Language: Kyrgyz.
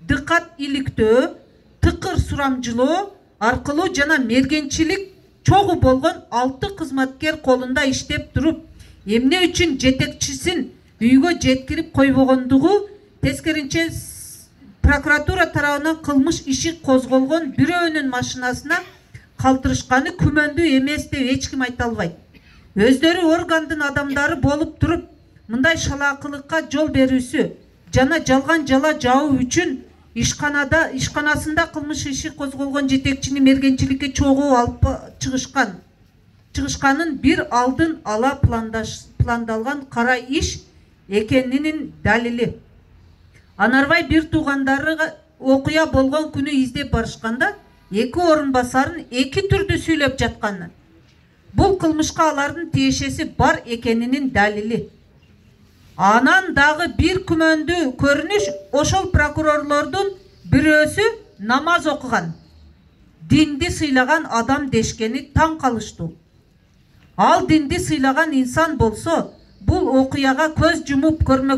дыккат иликтөө, тыкыр сурамжылоо аркылуу жана мергенчилик чогуу болгон 6 кызматкер колунда иштеп туруп, эмне үчүн жетекчисин үйгө жеткирип койбогондугу, тескеринче прокуратура тарабынан кылмыш иши козголгон бирөөнүн машинасына калтырышканы күмөндүү эмес деп эч ким айта албайт. Өздөрү органдын адамдары болуп туруп, мындай шалаакылыкка жол берүүсү жана жалган жала жауу үчүн ишканасында кылмыш иши козголгон жетекчини мергенчиликке чогуу алып чыгышканын бир алдын ала пландалган кара иш экенинин далили. Анарбай бир туугандары окуя болгон күнү издеп барышканда 2 орун басарын 2 түрдүү сүйлөп жатканы. Бул кылмышка алардын тиешеси бар экенинин далили. Анан дагы бир күмөндүү көрүнүш, ошол прокурорлордун бирөөсү намаз окуган, динди сыйлаган адам дешкени таң калыштуу. Ал динди сыйлаган инсан болсо, бул окуяга көз жумуп көрмөк